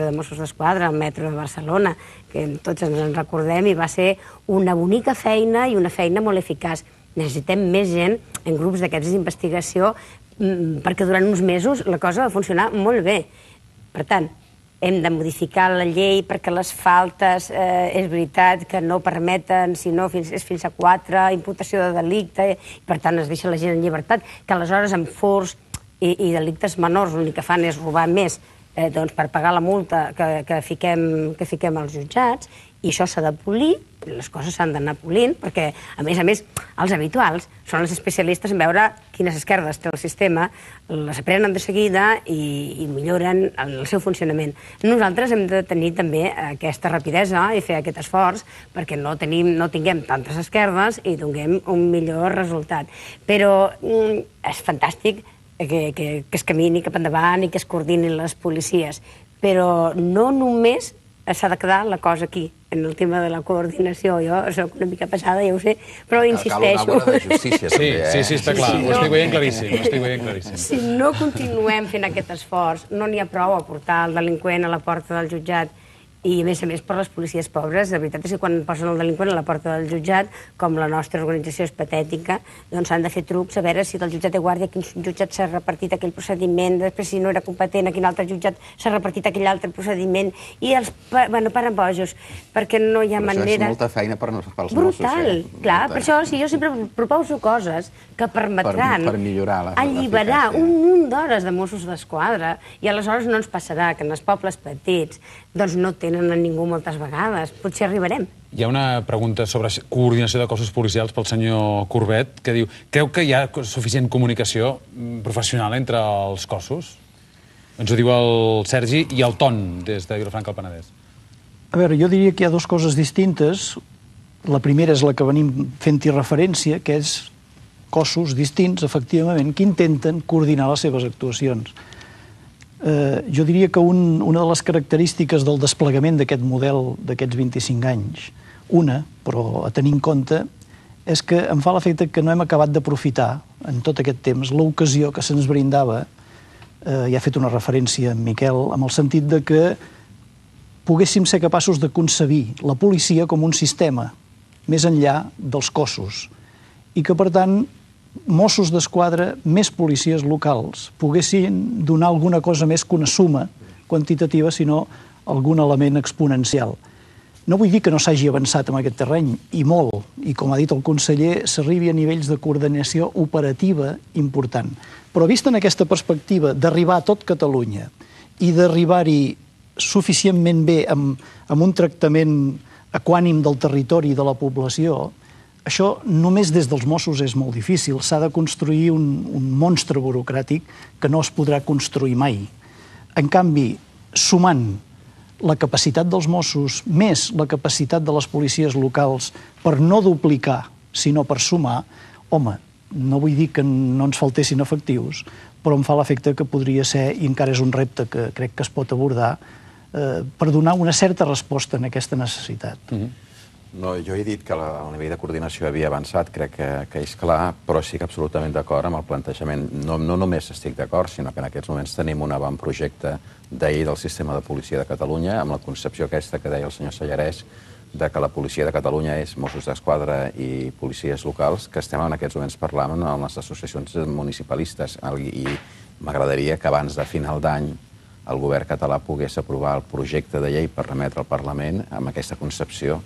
de Mossos d'Esquadra al metro de Barcelona, que tots ens en recordem, i va ser una bonica feina i una feina molt eficaç. Necessitem més gent en grups d'aquests d'investigació perquè durant uns mesos la cosa va funcionar molt bé. Per tant, hem de modificar la llei perquè les faltes, és veritat que no permeten, si no és fins a 4, imputació de delicte, i per tant es deixa la gent en llibertat, que aleshores amb furts i delictes menors l'únic que fan és robar més per pagar la multa que fiquem als jutjats, i això s'ha de polir, les coses s'han d'anar polint, perquè, a més, els habituals són els especialistes en veure quines esquerdes té el sistema, les aprenen de seguida i milloren el seu funcionament. Nosaltres hem de tenir també aquesta rapidesa i fer aquest esforç perquè no tinguem tantes esquerdes i donem un millor resultat. Però és fantàstic que es camini cap endavant i que es coordinin les policies, però no només s'ha de quedar la cosa aquí, en el tema de la coordinació. Jo soc una mica pesada, ja ho sé, però insisteixo. Cal una bona de justícia, també, Sí, està clar, ho estic veient claríssim. Si no continuem fent aquest esforç, no n'hi ha prou a portar el delinqüent a la porta del jutjat, i a més per les policies pobres. La veritat és que quan posen el delinqüent a la porta del jutjat, com la nostra organització és patètica, doncs s'han de fer trucs a veure si del jutjat de guàrdia, quin jutjat s'ha repartit aquell procediment, després si no era competent, a quin altre jutjat s'ha repartit aquell altre procediment, i els paren bojos, perquè no hi ha manera... Però això és molta feina pels Mossos. Brutal, clar, per això jo sempre proposo coses que permetran alliberar un munt d'hores de Mossos d'Esquadra, i aleshores no ens passarà que en els pobles petits doncs no tenen a ningú moltes vegades. Potser arribarem. Hi ha una pregunta sobre coordinació de cossos policials pel senyor Corbet, que diu: creu que hi ha suficient comunicació professional entre els cossos? Ens ho diu el Sergi i el Ton, des de Vilafranca del Penedès. A veure, jo diria que hi ha dues coses distintes. La primera és la que venim fent-hi referència, que és cossos distints, efectivament, que intenten coordinar les seves actuacions. Jo diria que una de les característiques del desplegament d'aquest model d'aquests 25 anys, però a tenir en compte, és que em fa l'efecte que no hem acabat d'aprofitar en tot aquest temps l'ocasió que se'ns brindava, ja ha fet una referència en Miquel, amb el sentit de que poguéssim ser capaços de concebir la policia com un sistema més enllà dels cossos, i que, per tant, Mossos d'Esquadra, més policies locals, poguessin donar alguna cosa més que una suma quantitativa, sinó algun element exponencial. No vull dir que no s'hagi avançat en aquest terreny, i molt, i com ha dit el conseller, s'arribi a nivells de coordinació operativa important. Però vist en aquesta perspectiva d'arribar a tot Catalunya i d'arribar-hi suficientment bé amb un tractament equànim del territori i de la població, això només des dels Mossos és molt difícil. S'ha de construir un monstre burocràtic que no es podrà construir mai. En canvi, sumant la capacitat dels Mossos més la capacitat de les policies locals per no duplicar, sinó per sumar, home, no vull dir que no ens faltessin efectius, però em fa l'efecte que podria ser, i encara és un repte que crec que es pot abordar, per donar una certa resposta a aquesta necessitat. No, jo he dit que el nivell de coordinació havia avançat, crec que és clar, però sí que absolutament d'acord amb el plantejament. No només estic d'acord, sinó que en aquests moments tenim un avantprojecte de llei del sistema de policia de Catalunya, amb la concepció aquesta que deia el senyor Sallarès, de que la policia de Catalunya és Mossos d'Esquadra i policies locals, que estem en aquests moments parlant amb les associacions municipalistes, i m'agradaria que abans de final d'any el govern català pogués aprovar el projecte de llei per remetre al Parlament amb aquesta concepció,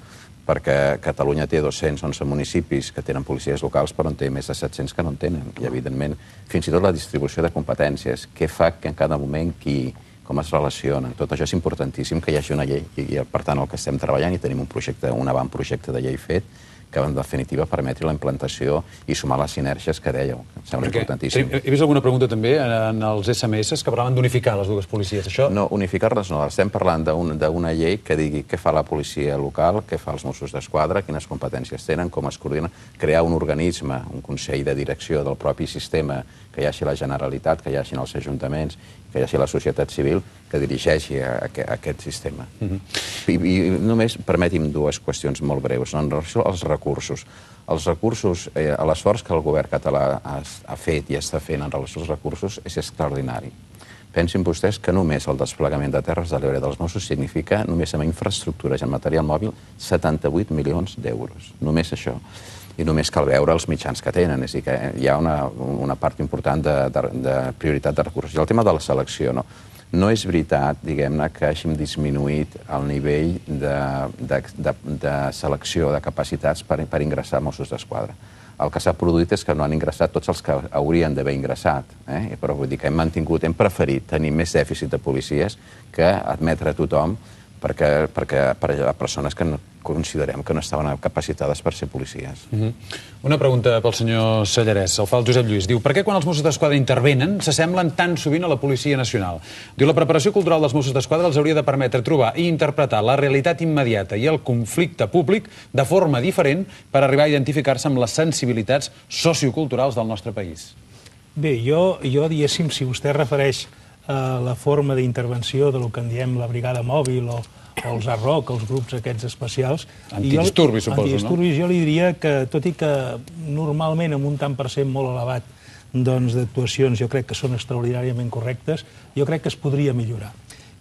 perquè Catalunya té 211 municipis que tenen policies locals, però en té més de 700 que no en tenen. I, evidentment, fins i tot la distribució de competències, què fa que en cada moment qui, com es relacionen, tot això és importantíssim que hi hagi una llei. I, per tant, el que estem treballant, i tenim un avantprojecte de llei fet, que en definitiva permeti la implantació i sumar les sinergies que dèieu. Em sembla importantíssim. He vist alguna pregunta també en els SMS que parlaven d'unificar les dues policies. No, unificar-les no. Estem parlant d'una llei que digui què fa la policia local, què fa els Mossos d'Esquadra, quines competències tenen, com es coordinen, crear un organisme, un consell de direcció del propi sistema que hi hagi la Generalitat, que hi hagi els ajuntaments, que hi hagi la societat civil, que dirigeixi aquest sistema. I només permeti'm dues qüestions molt breus. En relació als recursos. Els recursos, l'esforç que el govern català ha fet i està fent en relació als recursos és extraordinari. Pensin vostès que només el desplegament de Terres de l'Ebre dels Mossos significa, només amb infraestructures i en material mòbil, 78 milions d'euros. Només això. I només cal veure els mitjans que tenen. És a dir, que hi ha una part important de prioritat de recursos. I el tema de la selecció, no és veritat, diguem-ne, que hàgim disminuït el nivell de selecció de capacitats per ingressar a Mossos d'Esquadra. El que s'ha produït és que no han ingressat tots els que haurien d'haver ingressat. Però vull dir que hem preferit tenir més dèficit de policies que admetre a tothom per a persones que considerem que no estaven capacitades per ser policies. Una pregunta pel senyor Sallarès. El fa el Josep Lluís. Diu, per què quan els Mossos d'Esquadra intervenen s'assemblen tan sovint a la Policia Nacional? Diu, la preparació cultural dels Mossos d'Esquadra els hauria de permetre trobar i interpretar la realitat immediata i el conflicte públic de forma diferent per arribar a identificar-se amb les sensibilitats socioculturals del nostre país. Bé, jo diguéssim, si vostè refereix a la forma d'intervenció del que en diem la brigada mòbil o els ARROC, els grups aquests especials... Antidisturbis, suposo, no? Antidisturbis, jo li diria que, tot i que normalment amb un tant per cent molt elevat d'actuacions jo crec que són extraordinàriament correctes, jo crec que es podria millorar.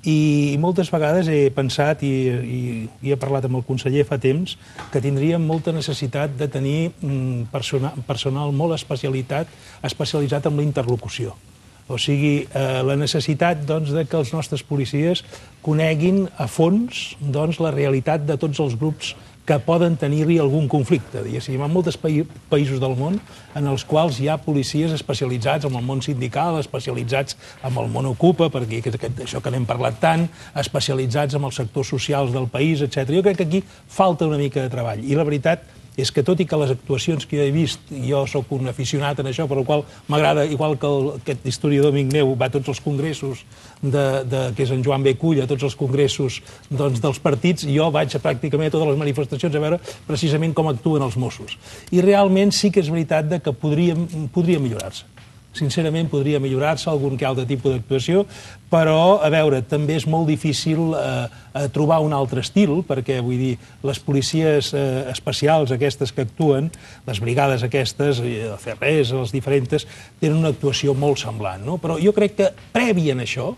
I moltes vegades he pensat, i he parlat amb el conseller fa temps, que tindríem molta necessitat de tenir personal molt especialitzat en la interlocució. O sigui, la necessitat que els nostres policies coneguin a fons la realitat de tots els grups que poden tenir-hi algun conflicte. Hi ha molts països del món en els quals hi ha policies especialitzats en el món sindical, especialitzats en el món ocupa, perquè això que n'hem parlat tant, especialitzats en els sectors socials del país, etc. Jo crec que aquí falta una mica de treball. I la veritat és que, tot i que les actuacions que jo he vist, jo sóc un aficionat en això, per la qual m'agrada, igual que aquest historiador amic meu va a tots els congressos, que és en Joan B. Cull, a tots els congressos dels partits, jo vaig pràcticament a totes les manifestacions a veure precisament com actuen els Mossos. I realment sí que és veritat que podria millorar-se. Sincerament, podria millorar-se algun que altre tipus d'actuació, però, a veure, també és molt difícil trobar un altre estil, perquè, vull dir, les policies especials, aquestes que actuen, les brigades aquestes, els CRS, les diferents, tenen una actuació molt semblant, no? Però jo crec que, previ a això,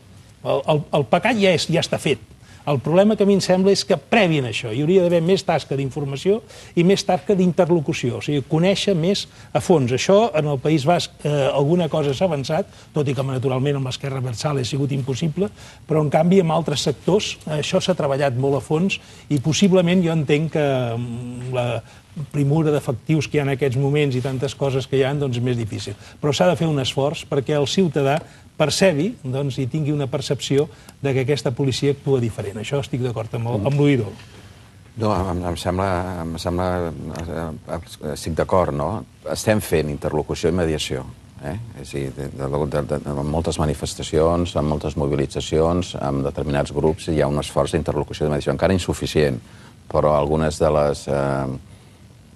el pecat ja està fet. El problema que a mi em sembla és que, previ a això, hi hauria d'haver més tasca d'informació i més tasca d'interlocució, o sigui, conèixer més a fons. Això, en el País Basc, alguna cosa s'ha avançat, tot i que, naturalment, amb l'esquerra versal ha sigut impossible, però, en canvi, en altres sectors, això s'ha treballat molt a fons i, possiblement, jo entenc que la primura d'efectius que hi ha en aquests moments i tantes coses que hi ha, doncs és més difícil. Però s'ha de fer un esforç perquè el ciutadà percebi i tingui una percepció que aquesta policia actua diferent. Això estic d'acord amb l'oïdor. No, em sembla... Estic d'acord, no? Estem fent interlocució i mediació. És a dir, en moltes manifestacions, en moltes mobilitzacions, amb determinats grups, hi ha un esforç d'interlocució i de mediació, encara insuficient, però algunes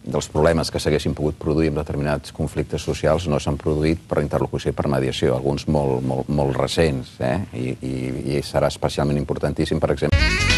dels problemes que s'haguessin pogut produir en determinats conflictes socials no s'han produït per interlocució i per mediació, alguns molt recents, i serà especialment importantíssim, per exemple...